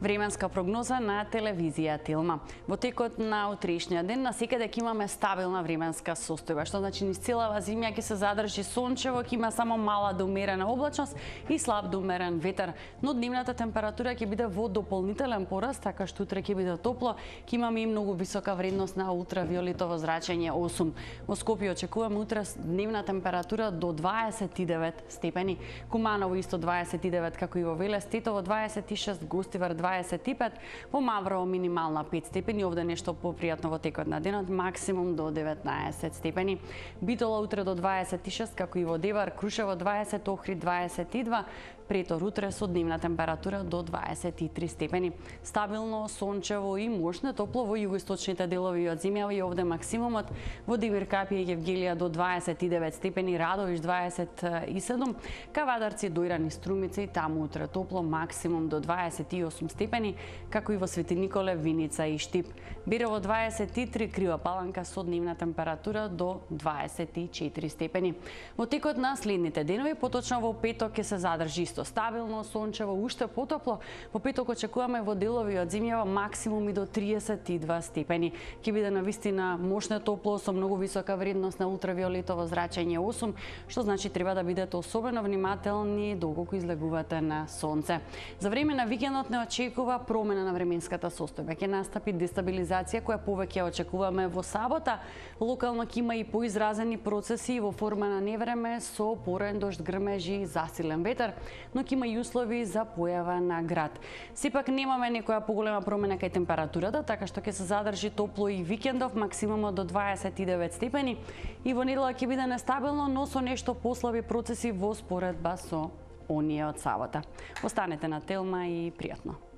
Временска прогноза на телевизија Телма. Во текот на утрешниот ден насекаде ќе имаме стабилна временска состојба, што значи низ целава земја ќе се задржи сончево, ќе има само мала до умерена облачност и слаб до умерен ветер, но дневната температура ќе биде во дополнителен пораст, така што утре ќе биде топло, ќе имаме и многу висока вредност на ултравиолетово зрачење 8. Во Скопје очекуваме утре дневна температура до 29 степени, Куманово исто 29 како и во Велес, Тетово 26, Гостивар 25, во Маврово минимална 5 степени, овде нешто попријатно во текот на денот, максимум до 19 степени. Битола утре до 26, како и во Девар, Крушево 20, Охрид 22, Претор утре со дневна температура до 23 степени. Стабилно, сончево и мощно топло во југоисточните делови од земјава и овде максимумот во Димир Капи и Евгелија до 29 степени, Радовиш 27, Кавадарци, Дојран и Струмица и таму утре топло, максимум до 28 степени, како и во Свети Николе, Виница и Штип. Берово 23, Крива Паланка со дневна температура до 24 степени. Во текот на следните денови, поточно во петок ќе се задржи исто стабилно, сончево, уште потопло. Во петок очекуваме во делови од земјава максимум и до 32 степени. Ќе биде навистина мощно топло со многу висока вредност на ултравиолетово зрачење 8, што значи треба да бидете особено внимателни доколку излегувате на сонце. За време на викендот не очекува промена на временската состојба. Ќе настапи дестабилизација која повеќе очекуваме во сабота. Локално ќе има и поизразени процеси во форма на невреме со порен дожд, грмежи и засилен ветер, но ќе има и услови за појава на град. Сепак немаме некоја поголема промена кај температурата, така што ќе се задржи топло и викендов, максимумот до 29 степени, и во недела ќе биде нестабилно, но со нешто послаби процеси во споредба со оние од сабота. Останете на Телма и пријатно.